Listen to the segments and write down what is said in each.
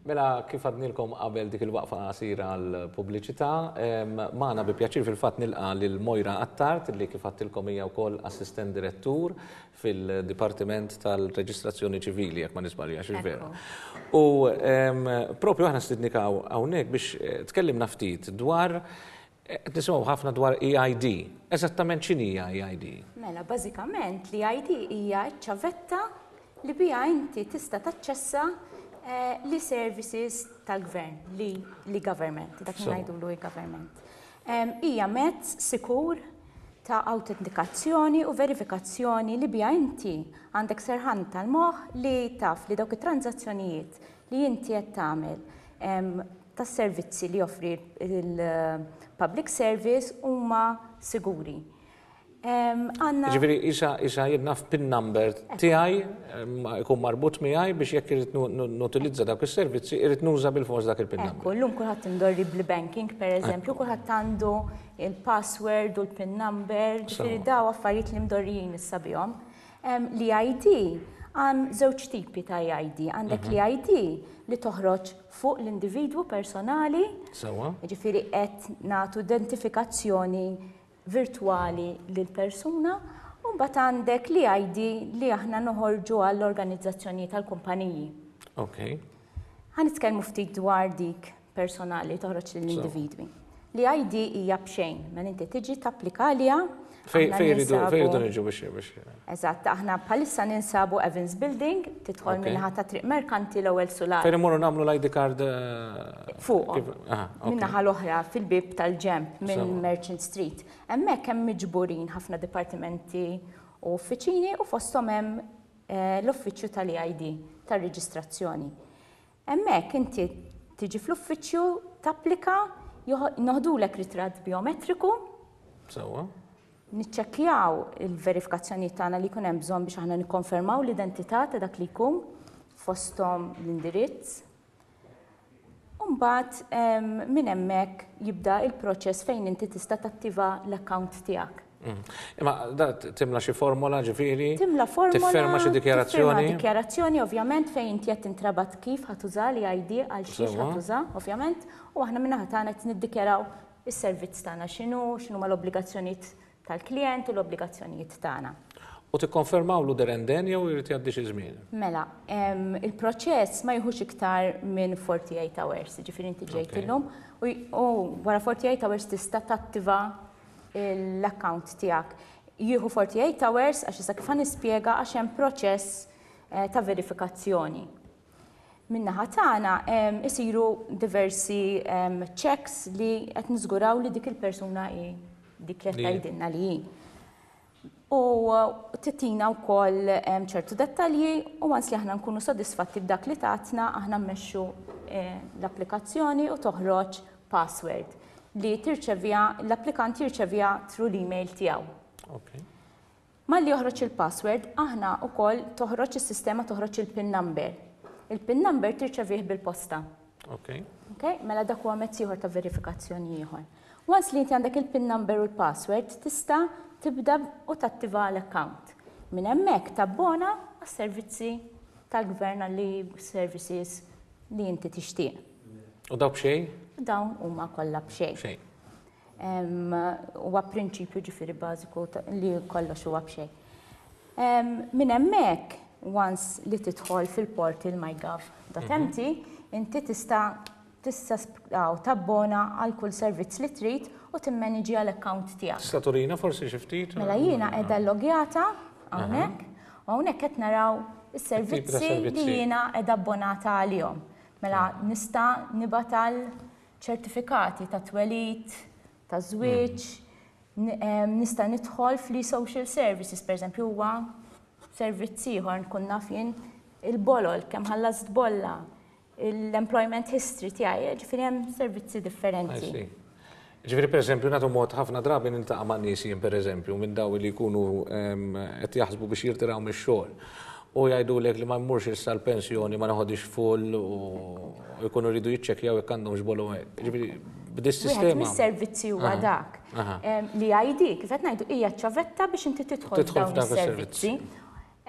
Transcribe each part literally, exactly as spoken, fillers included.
Mela, kif għednielkom qabel dik il-waqfa qasira għal-pubbliċità, magħna bi pjaċir fil-fatt nilqa' lil Moira Attard, li kif għedtilkom hija wkoll assistent direttur fil-Dipartiment tal-Reġistrazzjoni Ċivili, jekk ma niżbaljax, vera. U propju aħna stidinnik hawnhekk biex eh, tkellimna ftit dwar, qed nisimgħu ħafna dwar E I D. Eżattament x'inhija E I D? Mela, bażikament l-E I D hija ċavetta li biha inti tista' taċċessa eh, l-services tal-gvern, li, l-e-government, dak li ngħidu l-e-government. Hija mezz sikur ta' autentikazzjoni u verifikazzjoni li biha inti għandek serħan tal-moħ li taf li dawk it-tranzazzjonijiet li inti qed tagħmel tas-servizzi li joffri il-public service huma siguri. Ġifieri, isa isa jien naf PIN number tiegħi ikun marbut miegħi biex jekk irrid nutilizza dak is-servizzi, irrid nuża bil-fors dak il-PIN number. Ekku, llum kulħadd imdorri bl-banking, per eżempju, kulħadd għandu il-password u l-PIN number, ġifieri daw affarijiet li mdorrijin issa bihom. L-I D, għandna żewġ tipi ta' I D. Għandek mhm. l-I D li toħroġ fuq l-individwu personali. Sewwa. Ġifieri qed nagħtu identifikazzjoni virtuali lil persuna, u mbagħad għandek l-I D li aħna noħorġu għall-organizzazzjoni tal-kumpaniji. Ok. Ħa nitkellmu ftit dwar dik personali toħroġ lill-individwi. L-I D hija b'xejn, mela inti tiġi tapplika għaliha. Fejn iridu niġu biex biex. Eżatt, aħna bħalissa ninsabu Evans Building, tidħol min-naħa ta' Triq Merkanti, l-ewwel sular. Fejn imorru nagħmlu l-I D card? eh, Fuq. Min-naħa l-oħra, fil-bib tal-ġemp minn Merchant Street. Hemmhekk hemm miġburin ħafna dipartimenti u uffiċini u fosthom hemm eh, l-uffiċċju tal-E I D tar-reġistrazzjoni. Hemmhekk inti tiġi fl-uffiċċju, tapplika, noħdulek ritratt biometriku. Sewwa. Niċċekkjaw il-verifikazzjoni tagħna li jkun hemm bżonn biex aħna nikkonfermaw l-identità ta' dak li jkun, fosthom l-indirizz. Mbagħad minn hemmhekk jibda il-proċess fejn inti tista' tattiva l-account tiegħek. Mm. Imma da timla xi formola, ġifieri? Timla formola. Tiffirma xi dikjarazzjoni? Tiffirma dikjarazzjoni, ovvjament, fejn inti qed tintrabat kif ħa tuża l-I D, għal xiex ħa tuża, ovvjament, u aħna min-naħa tagħna qed niddikjaraw is-servizz tagħna x'inhu, x'inhu l-obbligazzjonijiet tal-klient u l-obbligazzjonijiet tagħna. U tikkonfermawlu there and then jew irid jgħaddi xi żmien? Mela, il-proċess ma jieħux iktar minn forty-eight hours, ġifieri inti ġejt illum u wara forty-eight hours tista' tattiva l-account tiegħek. Jieħu forty-eight hours għax issa kif nispjega, għax hemm proċess eh, ta' verifikazzjoni. Min-naħa tagħna isiru diversi checks li qed niżguraw li dik il-persuna hi dik li qed tgħidilna li hi. U tagħtina wkoll ċertu dettalji u once li aħna nkunu sodisfatti b'dak li tatna, aħna mmexxu eh, l-applikazzjoni u toħroġ password li tirċevija, l-applikant jirċevija through l-email tiegħu. Okay. Malli joħroġ il-password, aħna wkoll toħroġ is-sistema, toħroġ il-PIN number. Il-PIN number tirċevih bil-posta. Okay. Okay? Mela dak huwa mezz ieħor ta' verifikazzjoni ieħor. Once li inti għandek il-PIN number u l-password, tista' tibda u tattiva l-account. Minn hemmhekk tabbona għas-servizzi tal-gvern, għalli services li inti tixtieq. U daw b'xejn? Dawn huma kollha b'xejn. Xejn. Huwa prinċipju, ġifieri, bażiku li kollox huwa b'xejn. Minn hemmhekk, once li tidħol fil-portal mygov punt M T, inti tista' tista' tabbona għal kull servizz li trid u timmaniġi għal account tiegħek. Tista' turina forsi xi ftit? Mela, jiena qiegħda logjata hawnhekk u hawnhekk qed naraw is-servizzi li jiena qiegħda abbonata għalihom. Mela nista' nibgħat għal ċertifikati ta' twelid, ta' żwieġ, nista' nidħol fl-social services, per eżempju, huwa servizz ieħor, nkun naf jien il-bolol, kemm ħallast bolla, l-employment history tiegħi, ġifieri hemm servizzi differenti. Ġifieri, per eżempju, nagħtu mod, ħafna drabi niltaqa' ma' nies jien, per eżempju, minn daw li jkunu qed jaħsbu biex jirtiraw mix-xogħol. U jgħidulek li ma mmurx issa l-pensjoni, ma naħodix full, u jkunu rridu jiċċekkjaw jekk għandhom xbolu. Ġifieri b'dis-sistema. Wieħed mis-servizzi huwa dak. L-I D, kif qed ngħidu, hija ċavetta biex inti tidħol f'dawn is-servizzi.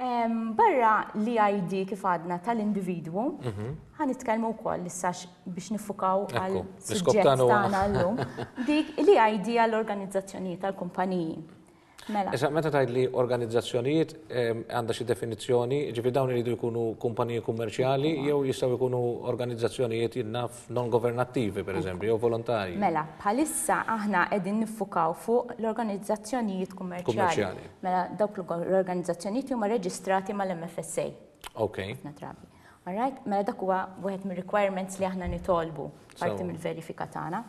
Em, Barra l-I D kif għadna tal-individwu, ħa nitkellmu wkoll issa biex niffukaw għal Ekku, l-iskop suġġett tagħna huwa- tagħna llum, dik l-E I D għall-organizzazzjonijiet, tal-kumpaniji. Mela, Issa, meta tgħid li organizzazzjonijiet, em, għandha xi definizzjoni, ġifieri dawn iridu jkunu kumpaniji kummerċjali jew jistgħu jkunu organizzazzjonijiet, jien naf, non governattivi, per eżempju, jew volontarji? Mela, bħalissa aħna qegħdin niffukaw fuq l-organizzazzjonijiet kummerċjali. Kummerċjali. Mela, dawk l-organizzazzjonijiet huma reġistrati mal-M F S A. Ok. Ħafna drabi. Alright? Mela dak huwa wieħed mir-requirements li aħna nitolbu parti Sewa. mill-verifika tagħna.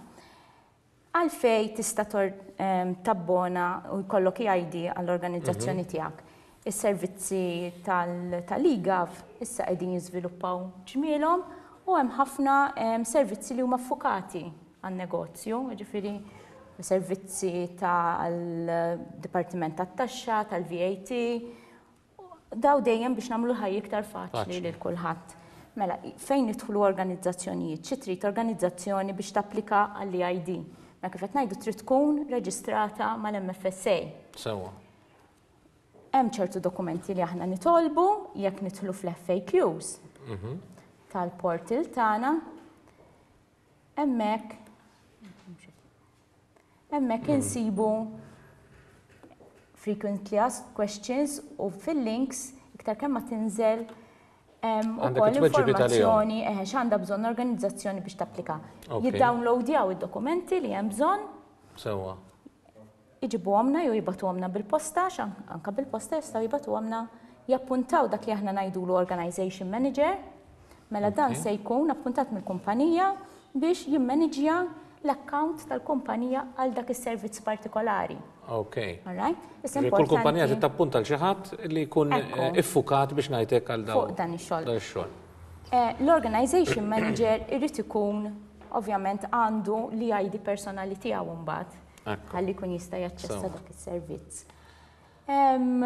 Għalfej tista' tor em, tabbona u jkollok E I D għall-organizzazzjoni tiegħek? Is-servizzi tal-e-Gov issa qegħdin jiżviluppaw ġmielhom u hemm ħafna em, servizzi li huma ffukati għan-negozju, ġifieri servizzi tal-Dipartiment tat-Taxxa, tal-V A T, daw dejjem biex nagħmlu ħajja iktar faċli Faċli. lil kulħadd. Mela, fejn nidħlu organizzazzjonijiet? Xi trid organizzazzjoni biex tapplika għall-E I D? Ma kif qed ngħidu, trid tkun reġistrata mal-M F S A. Sewa. Hemm ċertu dokumenti li aħna nitolbu. Jekk nidħlu fl-F A Qs tal-portal tagħna, hemmhekk hemmhekk insibu frequently asked questions u fil-links iktar kemm ma tinżel hemm Għandek ukoll it-tweġibiet għalihom. informazzjoni eħe x'għandha bżonn organizzazzjoni biex tapplika. Ok. Jiddownloadjaw id-dokumenti li hemm bżonn, Sewa. iġibuhomna jew jibagħtuhomna bil-posta, għax anka bil-posta jistgħu jibagħtuhomna, jappuntaw dak li aħna ngħidulu organization manager. Mela dan Ok. se jkun appuntat mill-kumpanija biex jimmaniġja l-account tal-kumpanija għal dak is-servizz partikolari. Ok. All right? Issa Ġifieri kull kumpanija importanti titappunta l xi ħadd li jkun Ekku. eh, iffukat, biex ngħidlek, għal daw. Fuq dan ix-xogħol. Dan ix-xogħol. Eh, L-organization manager irid ikun ovvjament għandu l-I D personali tiegħu mbagħad Ekku. ħalli jkun jista' jaċċessa Sewa. dak is-servizz. Em,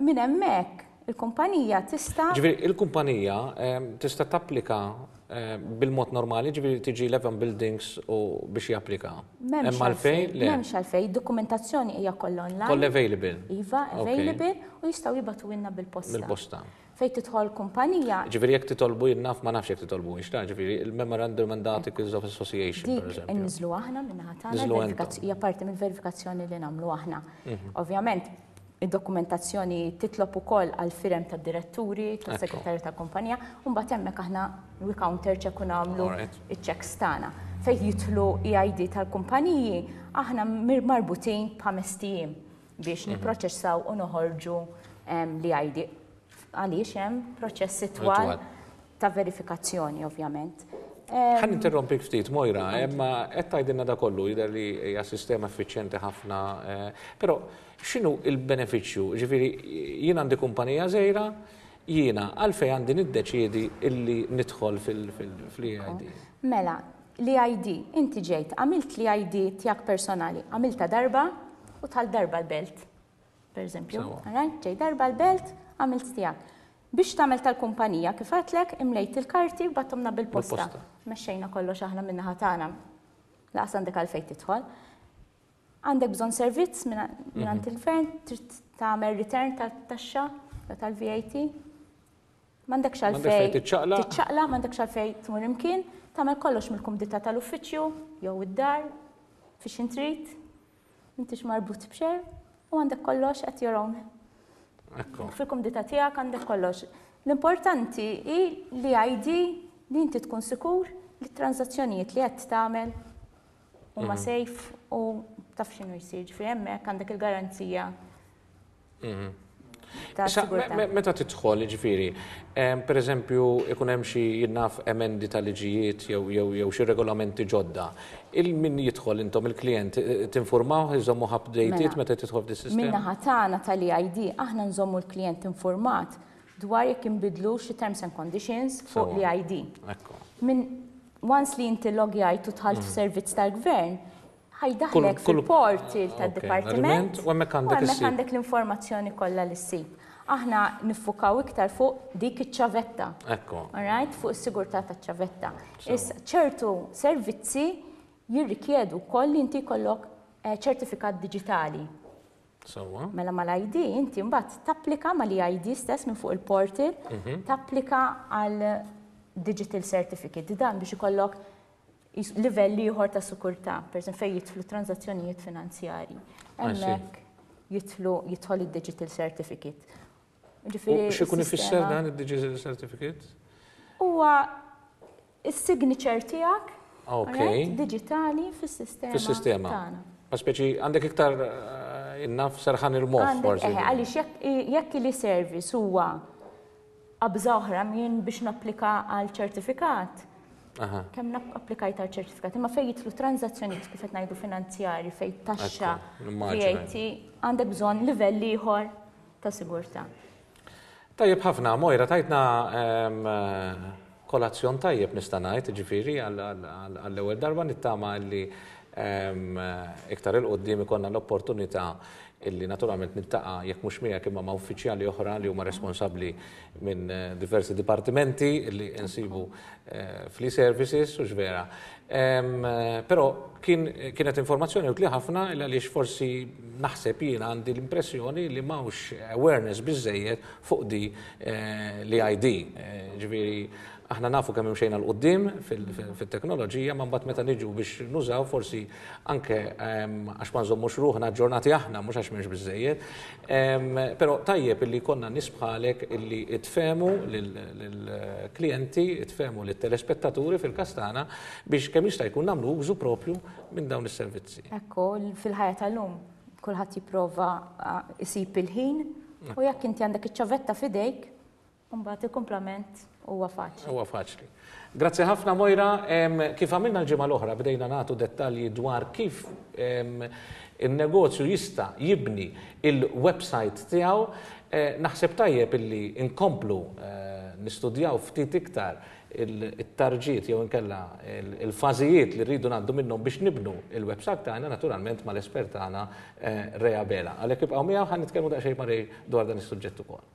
Minn hemmhekk il-kumpanija tista' Ġifieri il-kumpanija em, tista' tapplika em, bil-mod normali, ġifieri tiġi Eleven Buildings u biex japplika. M'hemmx Hemm għalfejn? Le. M'hemmx għalfejn, dokumentazzjoni hija kollha online. Kollha available. Iva, Ok. available, u jistgħu jibagħtuhielna bil-posta. Bil-posta. Fejn tidħol kumpanija, Ġifieri jekk titolbu, jien naf, ma nafx jekk titolbu, ix ġifieri il-Memorandum and Articles of Association, per dik eżempju. inniżlu aħna min-naħa tagħna, Niżlu verifikazzjoni- hija parti mill-verifikazzjoni li nagħmlu aħna. Ovvjament, id-dokumentazzjoni titlob ukoll għal firem tad-diretturi, tas-segretarju tal-kumpanija, u mbagħad hemmhekk aħna we counter check u nagħmlu Alright. iċ-checks tagħna. Fejn jidħlu E I D tal-kumpaniji, aħna mir- marbutin b'ħames ijiem biex nipproċessaw u noħorġu em, l-E I D. Għaliex hemm proċessi twal Twal. ta' verifikazzjoni, ovvjament. Ħa ninterrompik ftit, Moira, imma qed tgħidilna da kollu, jidher li hija sistema effiċjenti ħafna, eh, però x'inhu il-benefiċċju? Ġifieri jien għandi kumpanija żgħira, jiena għalfejn għandi niddeċiedi illi nidħol fil-E I D? Mela, l-I D, inti ġejt, għamilt l-I D tiegħek personali, għamilta darba u tal darba l-belt, per eżempju. Sewa. Alright? Ġej darba l-belt, għamilt tiegħek. Biex tagħmel tal-kumpanija, kif għedtlek, imlejt il-karti u bgħatthomlna bil-posta. Bil-posta. Mexxejna kollox aħna min-naħa tagħna. Lanqas għandek għalfejn tidħol. Għandek bżonn servizz minn għand il-gvern, trid tagħmel return tal-taxxa jew tal-V A T. M'għandekx M'għandekx għalfejn fejn tiċċaqlaq. Tiċċaqlaq, m'għandekx għalfejn tmur imkien, tagħmel kollox mill-kumdità tal-uffiċċju jew id-dar fiex intrid, m'intix marbut b'xejn u għandek kollox at your own. Ekku. Fil-kumdità tiegħek għandek kollox. L-importanti hi l-I D li inti tkun sikur li t-transazzjonijiet li qed tagħmel huma safe u taf x'inhu jsir. Ġifieri hemmhekk għandek il-garanzija ta' Issa, sigurtà. me- Meta tidħol, ġifieri, em, per eżempju, ikun hemm xi, jien naf, emendi ta' liġijiet jew jew jew xi regolamenti ġodda. Il-min jidħol intom il-klient eh, tinformaw, iżommu updated Mela, meta tidħol f'dis-sistema? Min-naħa tagħna tal-E I D aħna nżommu l-klient informat dwar jekk inbidlu xi terms and conditions fuq Sewa. l-E I D. Ekku. Min once li inti logjajt u dħalt f'servizz tal-gvern, ħa jdaħħlek Kull- kull- fil-portal Ok, tad-dipartiment u hemmhekk għandek u hemmhekk issib. għandek l-informazzjoni kollha li ssib. Aħna niffukaw iktar fuq dik iċ-ċavetta. Ekku. Alright, fuq is-sigurtà taċ-ċavetta. Issa, ċertu servizzi jirrikjedu wkoll li inti jkollok eh, ċertifikat diġitali. Sewwa. Mela mal-I D inti mbagħad tapplika mal-E I D stess minn fuq il-portal, tapplika għal digital certificate. Dan biex ikollok jis- livell ieħor ta' sikurtà, per eżempju fejn jidħlu transazzjonijiet finanzjarji. Hemmhekk jidħlu jidħol id-digital certificate. U Ġifieri x'ikun ifisser is-sistema dan id-digital certificate? Huwa is-signature tiegħek, Ok. alright, digitali fis-sistema. Fis-sistema. Tagħna. Ma speċi għandek iktar eh, innaf serħan il-moħħ Għandek, forsi. eħe, għaliex jekk jekk l-service huwa qabża oħra minn biex napplika għal ċertifikat. Aha. Kemm applikajt għal ċertifikat, imma fejn jidħlu transazzjonijiet kif qed ngħidu finanzjari, fejn taxxa, Ekku, nimmaġina. V A T, għandek bżonn livell ieħor ta' sigurtà. Tajjeb ħafna, Moira, tajtna em, eh, kolazzjon tajjeb nista' ngħid, ġifieri għall-ewwel darba nittama li em, eh, iktar 'il quddiem ikollna l-opportunità illi naturalment niltaqa' jekk mhux miegħek imma ma' uffiċjali oħra li huma responsabbli minn eh, diversi dipartimenti li nsibu eh, fl-services u vera. Em, eh, Però kien, kienet informazzjoni utli ħafna illa għaliex forsi naħseb jiena għandi l-impressjoni li m'hawnx awareness biżejjed fuq di eh, l-I D. Eh, Ġifieri aħna nafu kemm imxejna 'l quddiem fil-teknoloġija, ma mbagħad meta niġu biex nużaw forsi anke em, għax ma nżommux ruħna aġġornati aħna, mhux għax m'hemmx biżejjed. Em, Però tajjeb illi konna nies bħalek illi tfehmu lill-klijenti, tfehmu lit-telespettaturi fil-każ tagħna biex kemm jista' jkun nagħmlu użu propju minn dawn is-servizzi. Ekku, fil-ħajja tal-lum kulħadd jipprova ah, isib il-ħin u jekk inti għandek iċ-ċavetta f'idejk, mbagħad il-kumplament huwa faċli. Huwa faċli. Grazzi ħafna, Moira. Em, Kif għamilna l-ġimgħa l-oħra, bdejna nagħtu dettalji dwar kif em, il-negozju jista' jibni il-website tiegħu. Eh, Naħseb tajjeb illi inkomplu eh, nistudjaw ftit iktar il-tarġiet jew inkella il-fażijiet li rridu ngħaddu minnhom biex nibnu il-website tagħna, naturalment mal-espert tagħna eh, Rea Bela. Għalhekk ibqgħu miegħu, ħa nitkellmu daqsxejn ma' Ray dwar dan is-suġġett ukoll.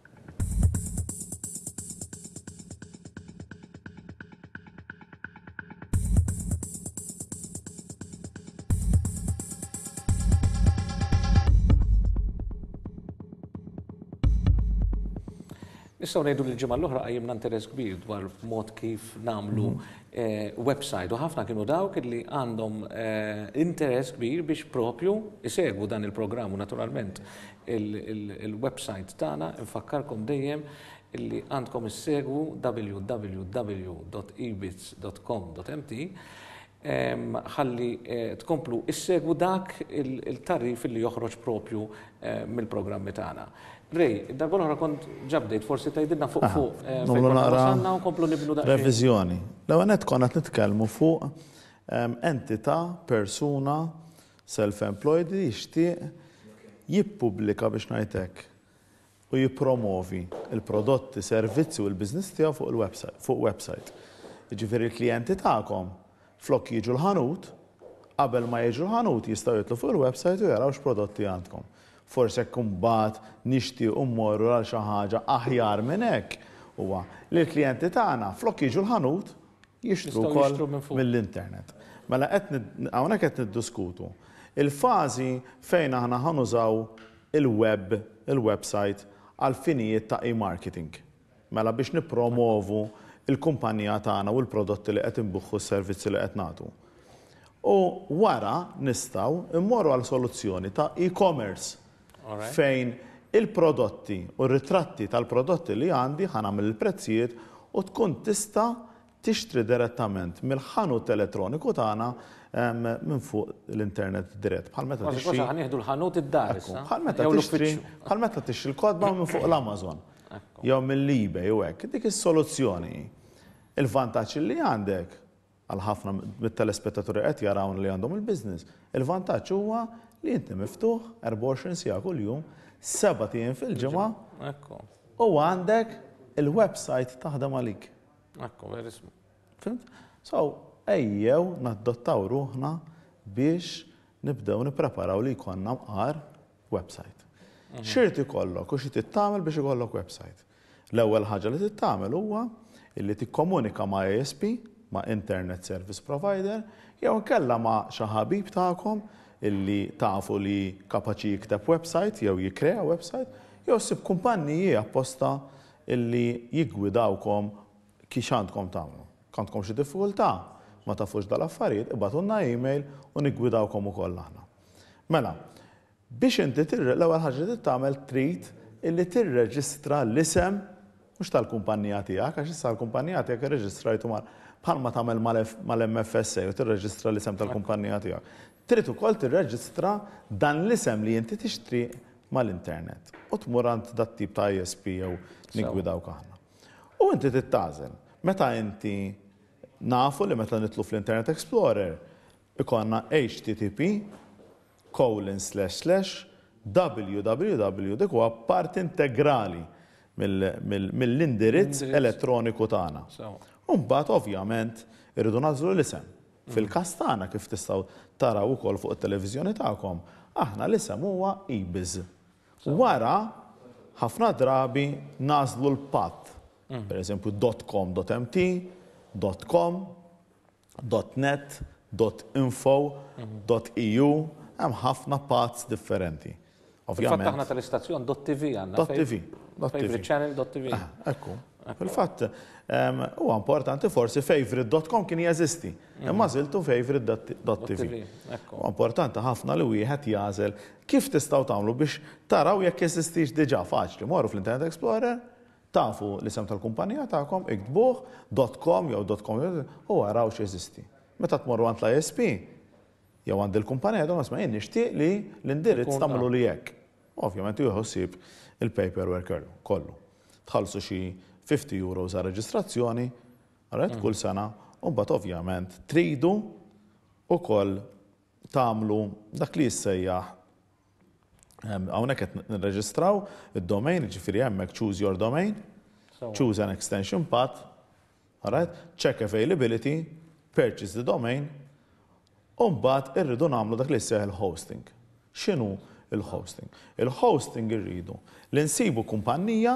Nistgħu ngħidu li l-ġimgħa l-oħra qajjimna interess kbir dwar mod kif nagħmlu eh, website u ħafna kienu dawk li għandhom eh, interess kbir biex propju isegwu dan il-programm u naturalment il-website tagħna. Infakkarkom dejjem illi għandkom issegwu W W W dot ebits dot com dot M T ħalli eh, tkomplu issegwu dak il-tarif li joħroġ propju mill-programmi tagħna. Ray, darba l-oħra kont ġa bdejt, forsi tgħidilna fuq fuq. Eh, Nagħmlu naqra nkomplu nibnu daqsxejn. Reviżjoni. L-ewwel nett konna qed nitkellmu fuq entità, persuna self-employed li jixtieq jippubblika, biex ngħidlek, u jippromovi il-prodotti, servizzi u l-business tiegħu fuq il-website, fuq website. Jiġifieri l-klijenti tagħkom, flok jiġu l-ħanut, qabel ma jiġu l-ħanut jistgħu jidħlu fuq il-website u jaraw x'prodotti għandkom. Forse jekk imbagħad nixtiequ mmorru għal xi ħaġa aħjar minn hekk, huwa li l-klijenti tagħna flok jiġu l-ħanut jixtru Jistgħu wkoll jixtru minn fuq. mill-internet. Mela qed nid- hawnhekk qed niddiskutu il-fażi fejn aħna ħa nużaw il-web, il-website għal finijiet ta' e-marketing. Mela biex nippromovu il-kumpanija tagħna u l-prodotti li qed inbigħu, s-servizzi li qed nagħtu. U wara nistgħu immorru għal soluzzjoni ta' e-commerce Alright. fejn il-prodotti u r-ritratti tal-prodotti li għandi, ħa nagħmel il-prezzijiet u tkun tista' tixtri direttament mill-ħanut elettroniku tagħna em, minn fuq l-internet dirett. Bħal meta Kważi tixtri kważi ħa nieħdu l-ħanut id-dar Ekku, issa. bħal meta Jew tixtri, l-uffiċċju. bħal meta tixtri l-kotba minn fuq l-Amazon jew mill-eBay u hekk. Dik is-soluzzjoni. Il-vantaġġ li għandek għal ħafna mit-telespettaturi qed jarawn li għandhom il-business, il-vantaġġ huwa li inti miftuħ erbgħa u għoxrin siegħa kuljum, sebat ijiem fil-ġimgħa Ekku, u għandek il-website taħdem għalik. Ekku, verissimo. Fhimt? So, ejjew naddottaw ruħna biex nibdew nippreparaw li jkollna mqar website. X'irid ikollok u xi trid tagħmel biex ikollok website? L-ewwel ħaġa li trid tagħmel huwa illi tikkomunika ma' I S P, ma' Internet Service Provider, jew inkella ma' xi ħabib tagħkom Illi tafu li kapaċi jikteb website jew jikkrea website, jew ssib kumpanniji apposta illi jiggwidawkom kif għandkom tagħmlu. Għandkom xi diffikultà, ma tafux dal-affarijiet, ibagħtulna email u niggwidawkom ukoll aħna. Mela, biex inti l-ewwel ħaġa li tagħmel, trid illi tirreġistra l-isem mhux tal-kumpanija tiegħek, għax issa l-kumpanija tiegħek irreġistrajtu mal bħalma tagħmel mal-M F S A u tirreġistra l-isem tal-kumpanija tiegħek. Trid ukoll tirreġistra dan l-isem li inti tixtri mal-internet. U tmur għand dat tip ta' I S P jew niggwidawk aħna. U inti tagħżel. Meta inti nafu li meta nidħlu fl-Internet Explorer ikollna H T T P colon slash slash W W W, dik huwa parti integrali mill-indirizz elettroniku tagħna. U mbagħad ovvjament irridu nagħżlu l-isem. Fil-każ tagħna, kif tistgħu taraw ukoll fuq it-televiżjoni tagħkom, aħna l-isem huwa eBiz. Wara ħafna drabi nagħżlu l-path. Per eżempju dot com dot M T, dot com, dot net, dot info, dot E U, hemm ħafna paths differenti. Ovvjament. Aħna tal-istazzjon dot T V għandna. dot T V. Favorite channel dot T V. Ah, ekku. Fil-fatt, huwa importanti, forsi favorite dot com kien jeżisti, imma għażiltu favorite dot T V. Huwa importanti ħafna li wieħed jagħżel. Kif tistgħu tagħmlu biex taraw jekk jeżistix diġà? Faċli, morru fl-Internet Explorer, tafu l-isem tal-kumpanija tagħkom, iktbuh dot com jew dot com u araw x'jeżisti. Meta tmorru għand l-I S P, jew għand il-kumpanija, don isma', jien nixtieq li l-indirizz tagħmlu li hekk. Ovvjament jieħu ħsieb il-paperwork kollu. Tħallsu xi fifty euros għal reġistrazzjoni, right, kull sena, u mbagħad ovvjament tridu ukoll tagħmlu dak li jissejjaħ, hawnhekk qed nirreġistraw id-domain, ġifieri hemmhekk choose your domain, choose an extension path, alright, check availability, purchase the domain, u mbagħad irridu nagħmlu dak li jissejjaħ il-hosting. X'inhu il-hosting? Il-hosting irridu li nsibu kumpanija,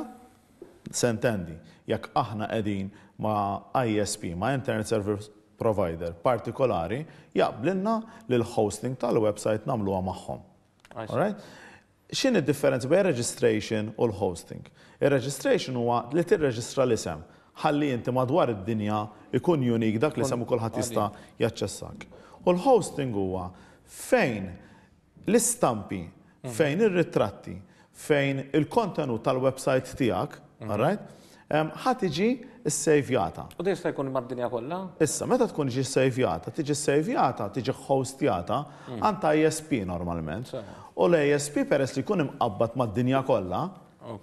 s'intendi, jekk aħna qegħdin ma' I S P, ma' Internet Service Provider partikolari, jaqblilna li l-hosting tal-website nagħmluha magħhom. Alright? X'inhi d-differenza bejn registration u l-hosting? Il-registration huwa li tirreġistra l-isem ħalli inti madwar id-dinja ikun unique dak l-isem u kulħadd jista' jaċċessak. U l-hosting huwa fejn l-istampi, fejn ir-ritratti, fejn il-kontenut tal-website tiegħek, alright? Ħa tiġi ssejvjata. U jista' jkun mad-dinja kollha? Issa, meta tkun ġi ssejvjata, tiġi ssejvjata, tiġi hostjata għand I S P normalment. U l-I S P, peress li jkun imqabbad mad-dinja kollha,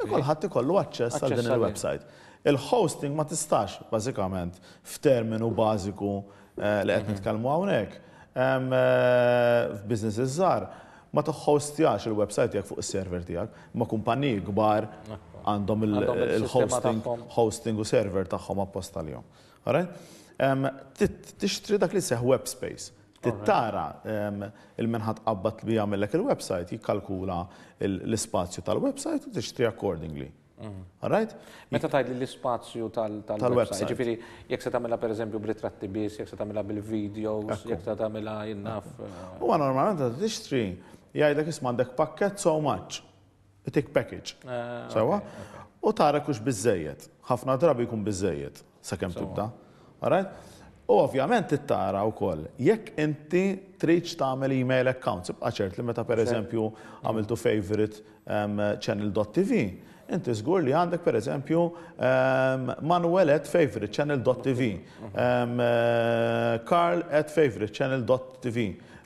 kulħadd ikollu aċċess għal din il-website. Il-hosting ma tistax, bażikament, f'terminu bażiku eh, li qed mhm. nitkellmu hawnhekk. Eh, f'businesses żgħar ma toħostjax il-website tiegħek fuq is-server tiegħek, ma kumpaniji kbar għandhom il-hosting hosting u server tagħhom apposta lihom. Tixtri dak li seħ web space. Tittara il-min ħa tqabbad li jagħmellek il-website jikkalkula l-ispazju tal-website u tixtri accordingly. Mhm. Alright? Meta tgħid l-ispazju tal-website, ġifieri jekk se tagħmilha pereżempju b'ritratti biss, jekk se tagħmilha bil-videos, jekk se tagħmilha jien naf. Eh, Huwa normalment tixtri, jgħidlek isma', għandek pakket so much. Itik package. Eh, Sewa? U tara hux biżejjed. Ħafna drabi jkun biżejjed sakemm tibda. Alright? U ovvjament tara wkoll jekk inti tridx tagħmel email accounts, ibqa' ċert li meta pereżempju għamiltu favorite um, channel dot T V, inti żgur li għandek pereżempju um, Manuel at favorite channel dot T V, um, uh, Carl at favorite channel dot T V,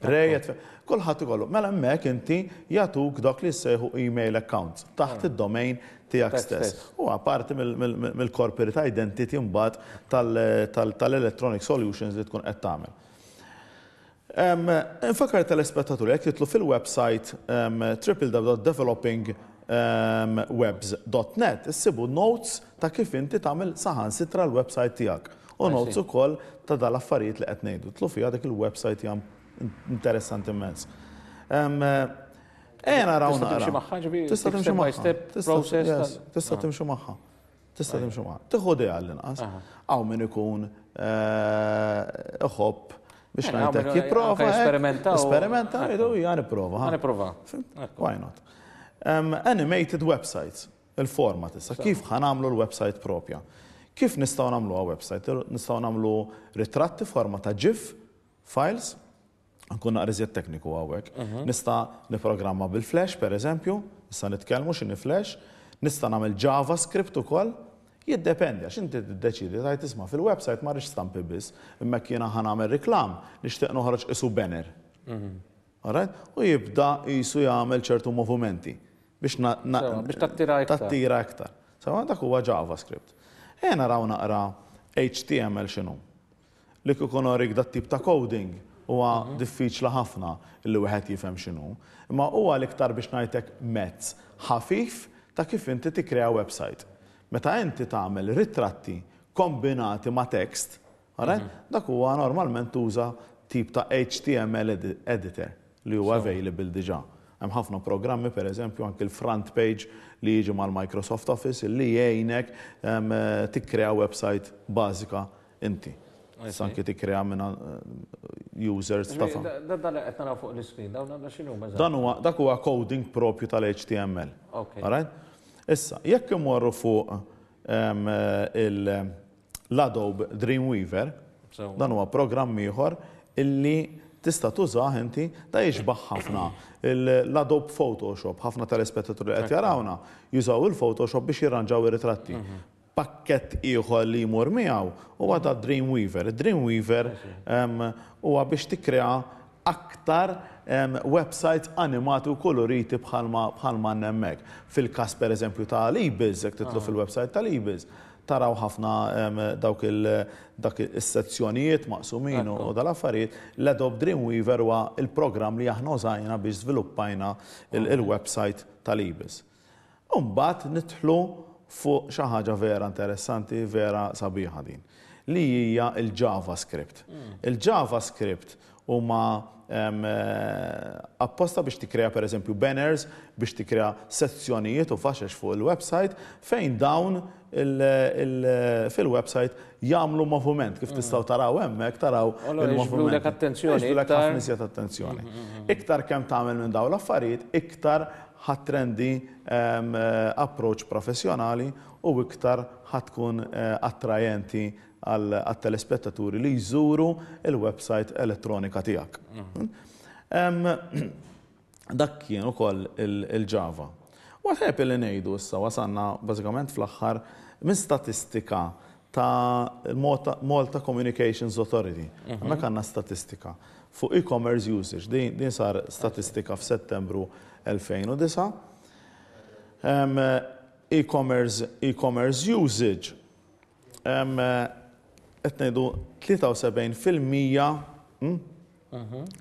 Ray at kulħadd ikollu. Mela hemmhekk inti jagħtuk dak li jsejħu email accounts taħt id-domain tiegħek stess. U parti mill-corporate identity mbagħad tal-electronic solutions li tkun qed tagħmel. Infakkar telespettaturi, jekk jidħlu fil-website W W W dot developingwebs dot net issibu notes ta' kif inti tagħmel saħansitra l-website tiegħek. U notes ukoll ta' dal-affarijiet li qed ngħidu. Idħlu fiha, dik il-website hija interessanti immens. Ejja naraw Tista' timxi magħha, ġifieri, Tista' timxi step by magħha. step Tista' process yes, tal- Tista' timxi magħha. Tista' timxi magħha. Tieħu idea għall-inqas. Hawn min ikun eh, iħobb Biex ngħidlek jipprova. Esperimenta. Esperimenta, jgħidu ja nipprova. Nipprova. Why not? Animated websites, il-format issa, kif ħa nagħmlu l-website propja? Kif nistgħu nagħmluha website? Nistgħu nagħmlu ritratti forma ta' GIF files, nkun naqra iżjed tekniku hawnhekk. Nista' niprogramma bil-Flash, per eżempju, nista' nitkellmu x'inhi Flash, nista' nagħmel JavaScript ukoll, jiddependi, għax inti tiddeċidi tgħid isma' fil-website ma rridx stampi biss, imma jiena ħa nagħmel reklam, nixtieq noħroġ isu banner. Alright? U jibda jisu jagħmel ċertu movimenti biex biex tattira iktar. Tattira iktar. Sewa dak huwa JavaScript. E naraw naqra H T M L x'inhu. Li kieku norik dat tip ta' coding huwa diffiċli ħafna li wieħed jifhem x'inhu. Imma huwa l-iktar biex ngħidlek mezz ħafif ta' kif inti tikkrea website. Meta inti tagħmel ritratti kombinati ma' text, alright? Dak huwa normalment tuża tip ta' H T M L editor li huwa available diġà. Hemm ħafna programmi, per eżempju, anke l-front page li jiġi mal-Microsoft Office li jgħinek tikkrea website bażika inti. Anke tikkrea minna users ta' Dan qed naraw fuq l-screen, dawn x'inhu? Dan huwa dak huwa coding propju tal-H T M L. Alright? Issa, jekk imorru fuq l-Adobe Dreamweaver, dan huwa programm ieħor illi tista' tużah inti, da jixbaħ ħafna l-Adobe Photoshop, ħafna telespettaturi li qed jarawna jużaw il-Photoshop biex jirranġaw ir-ritratti. Pakket ieħor li jmur miegħu huwa da Dreamweaver. Dreamweaver huwa biex tikkrea aktar websites animati u koloriti bħalma bħalma hemmhekk. Fil-każ per eżempju ta' l-eBiz, jekk titlu fil-website tal-eBiz, taraw ħafna dawk dak is-sezzjonijiet maqsumin u dal-affarijiet. L-Adobe Dreamweaver huwa il-programm li aħna użajna biex żviluppajna il-website tal-eBiz. Umbagħad nidħlu fuq xi ħaġa vera interessanti, vera sabiħa din, li hija il-JavaScript. Il-JavaScript huma apposta biex tikkrea per eżempju banners, biex tikkrea sezzjonijiet u faxex fuq il-website fejn dawn fil-website jagħmlu moviment kif tistgħu taraw hemmhekk, taraw il-moviment. Attenzjoni. Ħafna iżjed attenzjoni. Iktar kemm tagħmel minn dawn l-affarijiet, iktar ħa trendi approach professjonali u iktar ħa tkun attrajenti għal-telespettaturi li jżuru il-website elettronika tiegħek. Dak kien ukoll il-Java. U għalhekk li ngħidu issa wasanna bażikament fl-aħħar minn statistika ta' Malta Communications Authority. Hemmhekk għandna statistika fuq e-commerce usage. Din sar statistika f'Settembru elfejn u disgħa. E-commerce e-commerce usage qed ngħidu tlieta u sebgħin fil-mija hmm,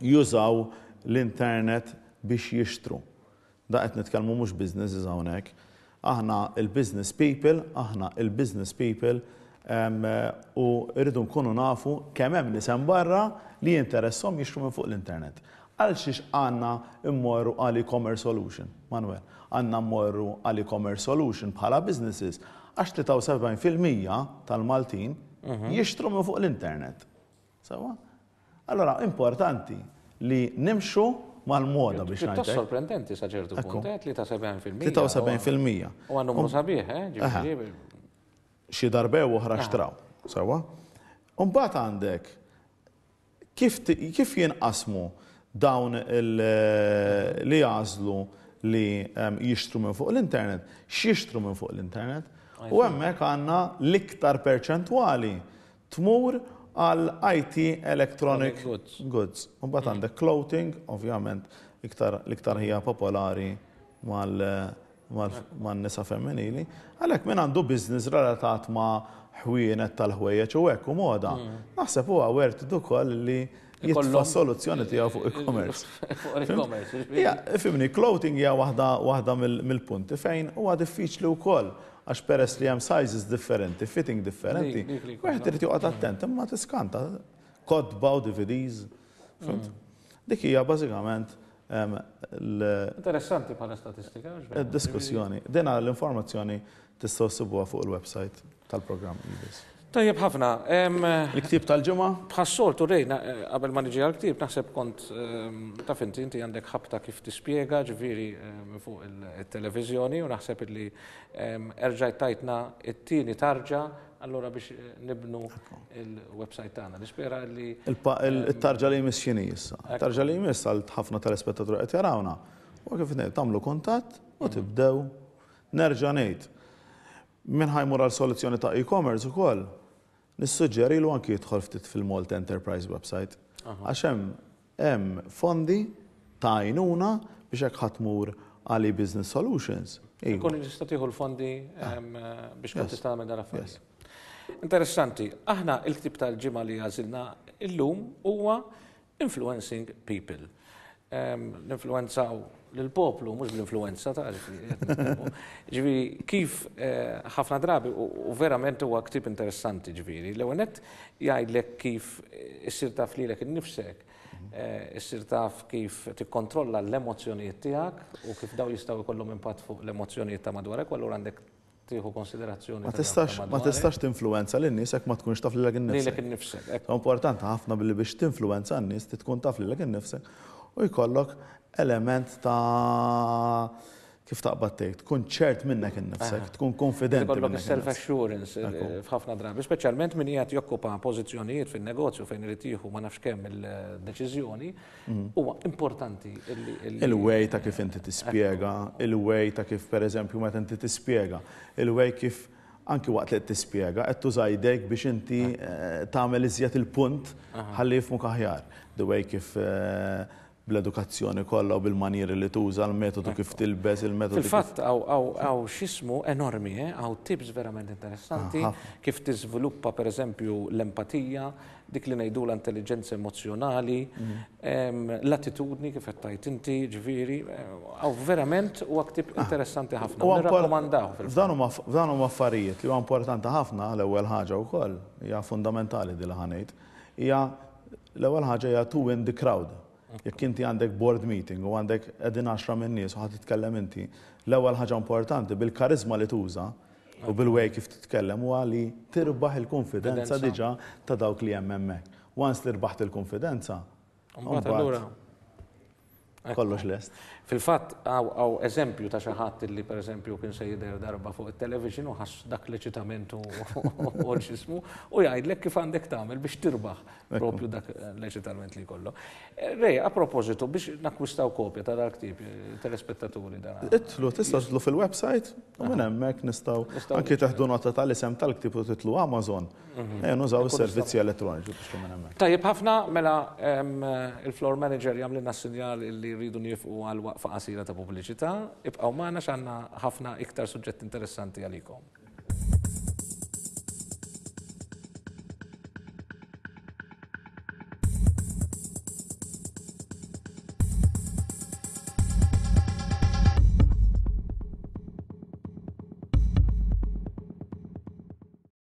jużaw l-internet biex jixtru. Da qed nitkellmu mhux businesses hawnhekk. Aħna il-business people, aħna il-business people u rridu nkunu nafu kemm hemm nies barra li jinteressom jixtru minn fuq l-internet. Għal xiex għandna immorru għal e-commerce solution, Manuel? Għandna mmorru għal e-commerce solution bħala businesses għax tlieta u sebgħin fil-mija tal-Maltin jixtru minn fuq l-internet. Sewa? Allora, importanti li nimxu mal-moda biex ngħid. Sorprendenti sa ċertu punt, tlieta u sebgħin fil-mija. tlieta u sebgħin fil-mija. U għandu numru sabiħ, eh? Xi darba oħra xtraw. Sewa? Umbagħad għandek kif kif jinqasmu dawn li jagħżlu li jixtru minn fuq l-internet, x'jixtru minn fuq l-internet, u hemmhekk għandna l-iktar perċentwali tmur għal I T Electronic Goods. U mbagħad għandek clothing, ovvjament, l-iktar hija popolari mal-nisa femminili. Għalhekk min għandu business relatat ma' ħwienet tal-ħwejjeġ u hekk u moda, naħseb huwa worth ukoll li jitfa' soluzzjoni tiegħu fuq e-commerce. Fuq e-commerce. Fhimni, clothing hija waħda mill-punti fejn huwa diffiċli wkoll għax peress li hemm sizes differenti, fitting differenti, wieħed irid joqgħod attent, imma tiskanta. Kotba u D V Ds. Dik hija bażikament Interessanti bħala statistika. Diskussjoni. Dina l-informazzjoni tistgħu ssibuha fuq il-website tal-programm eBiz. Tajjeb ħafna. Il-ktieb tal-ġimgħa? Bħas-soltu rejna, qabel ma niġi għal-ktieb, naħseb kont taf inti, inti għandek ħabta kif tispjega, ġifieri fuq il-televiżjoni, u naħseb li erġajt tajtna it-tieni tarġa allura biex nibnu il-website tagħna. Nispera li Il-tarġa li jmiss x'inhi issa? Il-tarġa li jmiss għal ħafna telespettaturi qed jarawna. U kif ngħid, tagħmlu kuntatt u tibdew. Nerġa' ngħid. Min ħa jmur għal soluzzjoni ta' e-commerce ukoll, nissuġġerilu anki jidħol ftit fil-Malta Enterprise website. Għax hemm hemm fondi ta' għajnuna biex hekk ħa tmur għal Business Solutions. Ikun tista' tieħu l-fondi biex tkun tista' tagħmel dan affarijiet. Interessanti, aħna il-ktieb tal-ġimgħa li għażilna illum huwa Influencing People. Ninfluenzaw lill-poplu, mhux bl-influenza ta' ġifieri kif ħafna drabi, u verament huwa ktieb interessanti ġifieri. L-ewwel nett jgħidlek kif issir taf lilek innifsek, issir taf kif tikkontrolla l-emozzjonijiet tiegħek u kif daw jistgħu jkollhom impatt fuq l-emozzjonijiet ta' madwarek, u allura għandek tieħu konsiderazzjoni. Ma tistax ma tistax tinfluwenza lin-nies jekk ma tkunx taf lilek innifsek. Lilek innifsek. Importanti ħafna billi biex tinfluwenza n-nies tkun taf lilek innifsek u jkollok element ta' kif taqbad tgħid, tkun ċert minnek innifsek, tkun konfidenti. Ikollok self-assurance f'ħafna drabi, speċjalment min qiegħed jokkupa pożizzjonijiet fin-negozju fejn irid jieħu ma nafx kemm il-deċiżjoni, huwa importanti. Il-way ta' kif inti tispjega, il-way ta' kif pereżempju meta inti tispjega, il-way kif anki waqt li qed tispjega qed tuża jdejk biex inti tagħmel iżjed il-punt ħalli jifhmuk aħjar. The way kif bl-edukazzjoni kollha u bil-manieri li tuża, l-metodu kif tilbes, il-metodu. Fil-fatt hawn x'ismu enormi, hawn tips verament interessanti kif tiżviluppa pereżempju l-empatija, dik li ngħidu l-intelligenza emozjonali, l-attitudni kif qed tgħid inti, ġifieri, hawn verament huwa ktieb interessanti ħafna. Nirrakkomandaw fil-fatt. F'dan huma affarijiet li huwa importanti ħafna. L-ewwel ħaġa wkoll hija fundamentali din li ħa ngħid, hija l-ewwel ħaġa hija to win the crowd. Jekk inti għandek board meeting u għandek qegħdin għaxra minn nies u ħa titkellem inti, l-ewwel ħaġa importanti bil-karizma li tuża u bil-way kif titkellem huwa li tirbaħ il-konfidenza diġà ta' dawk li hemm hemmhekk. Once li rbaħt il-konfidenza, mbagħad allura kollox lest. Fil-fatt hawn eżempju ta' xi ħadd li pereżempju kien se jidher darba fuq it-television u ħass dak l-eċitament u x'ismu u jgħidlek kif għandek tagħmel biex tirbaħ propju dak l-eċitament li jkollu. Ray, a propositu biex nakkwistaw kopja ta' dal-ktieb telespettaturi dan. Idħlu, tistgħu tidħlu fil-website u minn hemmhekk nistgħu anki teħdu nota tal-isem tal-ktieb u tidħlu Amazon. Ejja nużaw is-servizzi elettroniċi biex minn hemmhekk. Tajjeb ħafna, mela il-floor manager jagħmlilna sinjal li rridu nieqfu għal waqfa qasira ta' pubbliċità. Ibqgħu magħna x'għandna ħafna iktar suġġett interessanti għalikom.